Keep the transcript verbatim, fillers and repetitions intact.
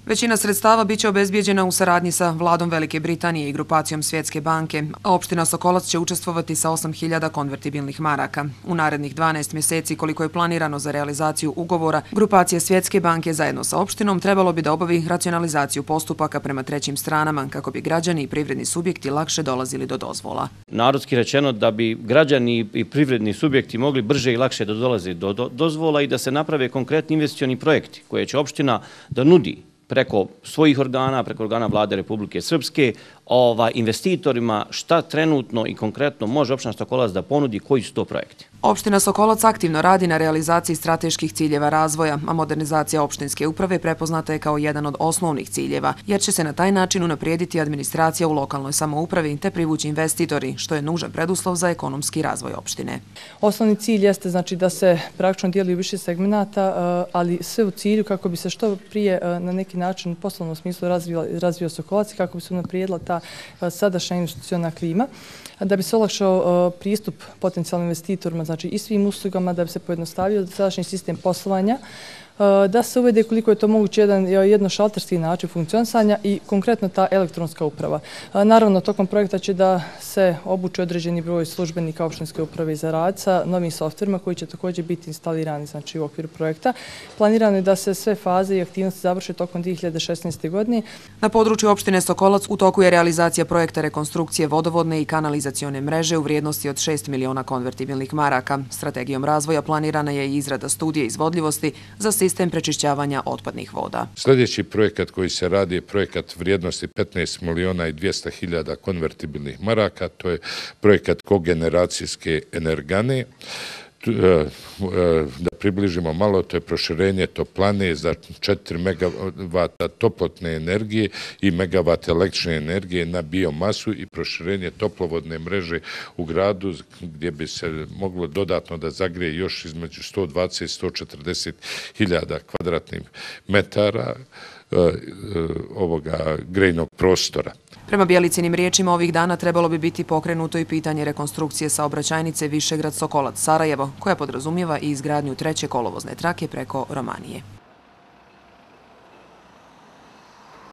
Većina sredstava biće obezbijeđena u saradnji sa vladom Velike Britanije i grupacijom Svjetske banke, a opština Sokolac će učestvovati sa osam hiljada konvertibilnih maraka. U narednih dvanaest mjeseci, koliko je planirano za realizaciju ugovora, grupacija Svjetske banke zajedno sa opštinom trebalo bi da obavi racionalizaciju postupaka prema trećim stranama kako bi građani i privredni subjekti lakše dolazili do dozvola. Narodski rečeno da bi građani i privredni subjekti mogli brže i lakše da dolaze do dozvola i da se naprave konkretni investicioni projekti koje će opština da nudi preko svojih organa, preko organa Vlade Republike Srpske, investitorima šta trenutno i konkretno može opština Sokolac da ponudi, koji su to projekti. Opština Sokolac aktivno radi na realizaciji strateških ciljeva razvoja, a modernizacija opštinske uprave prepoznata je kao jedan od osnovnih ciljeva, jer će se na taj način unaprijediti administracija u lokalnoj samoupravi te privući investitori, što je nužan preduslov za ekonomski razvoj opštine. Osnovni cilj jeste znači da se praktično dijeli u više segmenata, ali sve u cilju kako bi se što prije na neki način u poslovnom smislu razvio Sokolac i kako bi se unaprijedila ta sadašnja investiciona klima, da bi se olakšao pristup potencijalnim investitorima, znači i svim uslugama, da bi se pojednostavio sadašnji sistem poslovanja, da se uvede koliko je to moguće jedan jednošalterski način funkcionisanja i konkretno ta elektronska uprava. Naravno, tokom projekta će da se obuči određeni broj službenika opštinske uprave za rad sa novim softverima koji će također biti instalirani znači, u okviru projekta. Planirano je da se sve faze i aktivnosti završe tokom dvije hiljade šesnaeste. godine. Na području opštine Sokolac u toku je realizacija projekta rekonstrukcije vodovodne i kanalizacione mreže u vrijednosti od šest miliona konvertibilnih maraka. Strategijom razvoja planirana je i izrada studije izvodljivosti za sistem prečišćavanja otpadnih voda. Sljedeći projekat koji se radi je projekat vrijednosti petnaest miliona i dvjesto hiljada konvertibilnih maraka. To je projekat kogeneracijske energane. Da približimo malo, to je proširenje toplane za četiri megavata toplotne energije i megavat električne energije na biomasu i proširenje toplovodne mreže u gradu gdje bi se moglo dodatno da zagrije još između sto dvadeset i sto četrdeset hiljada kvadratnih metara ovoga grejnog prostora. Prema Bjelicinim riječima ovih dana trebalo bi biti pokrenuto i pitanje rekonstrukcije saobraćajnice Višegrad-Sokolac-Sarajevo, koja podrazumijeva i izgradnju treće kolovozne trake preko Romanije.